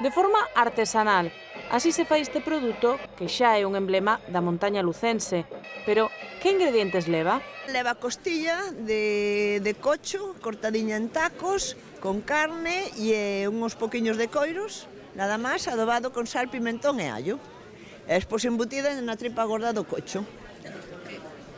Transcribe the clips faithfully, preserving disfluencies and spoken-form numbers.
de forma artesanal. Así se fai este produto que xa é un emblema da montaña lucense. Pero que ingredientes leva? Leva costilla de, de cocho, cortadiña en tacos, con carne e uns poquinhos de coiros, nada máis, adobado con sal, pimentón e allo. E despois embutida na tripa gorda do cocho.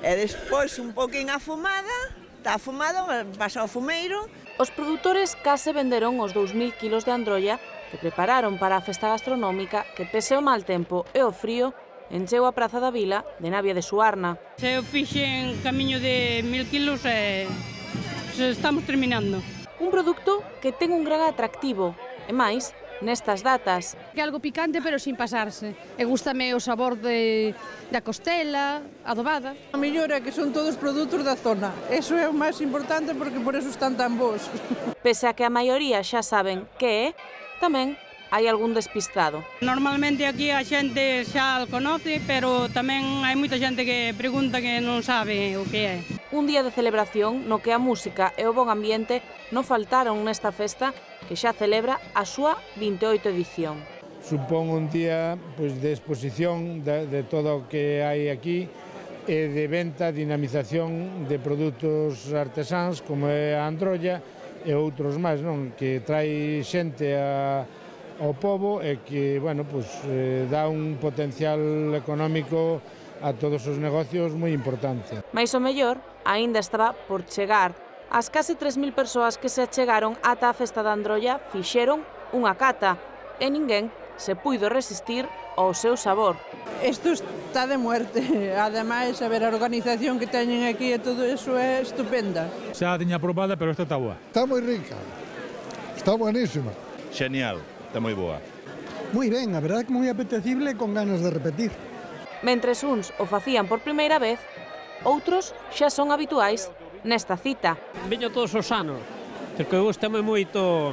E despois un poquín afumada, está afumado, pasa ao fumeiro. Os produtores case venderon os dous mil kilos de androlla que prepararon para a festa gastronómica que, pese ao mal tempo e o frío, encheu a Praza da Vila de Navia de Suarna. Se eu fixen camiño de mil kilos e se estamos terminando. Un produto que ten un gran atractivo, e máis nestas datas. Que algo picante pero sin pasarse. E gústame o sabor de, da costela, adobada. A mellor é que son todos produtos da zona. Eso é o máis importante porque por eso están tan bons. Pese a que a maioría xa saben que é, tamén hai algún despistado. Normalmente aquí a xente xa o conoce, pero tamén hai moita xente que pregunta que non sabe o que é. Un día de celebración no que a música e o bon ambiente non faltaron nesta festa que xa celebra a súa vinte e oito edición. Supón un día pois, de exposición de, de todo o que hai aquí e de venta, dinamización de produtos artesáns como é a androlla e outros máis, non? Que trai xente a ao pobo e que, bueno, pues, eh, dá un potencial económico a todos os negocios moi importante. Mais o mellor aínda estaba por chegar. As case tres mil persoas que se achegaron ata a festa da Androlla fixeron unha cata e ninguén se puido resistir ao seu sabor. Isto está de muerte. Ademais, a ver, a organización que teñen aquí e todo iso é estupenda. Xa a tiña probada, pero esta está boa. Está moi rica. Está buenísima. Genial. Está moi boa. Moi ben, a verdade que moi apetecible con ganas de repetir. Mentres uns o facían por primeira vez, outros xa son habituais nesta cita. Viño todos os anos, porque gustame moito,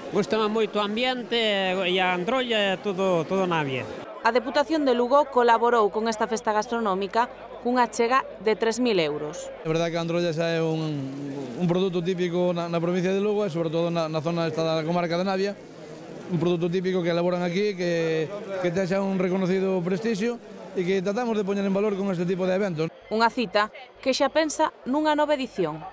gustame moito o ambiente e a androlla e todo, todo Navia. A Deputación de Lugo colaborou con esta festa gastronómica cunha chega de tres mil euros. É verdade que a androlla xa é un, un produto típico na, na provincia de Lugo e sobre todo na, na zona esta da comarca de Navia. Un produto típico que elaboran aquí, que, que ten xa un reconocido prestixio e que tratamos de poñer en valor con este tipo de eventos. Unha cita que xa pensa nunha nova edición.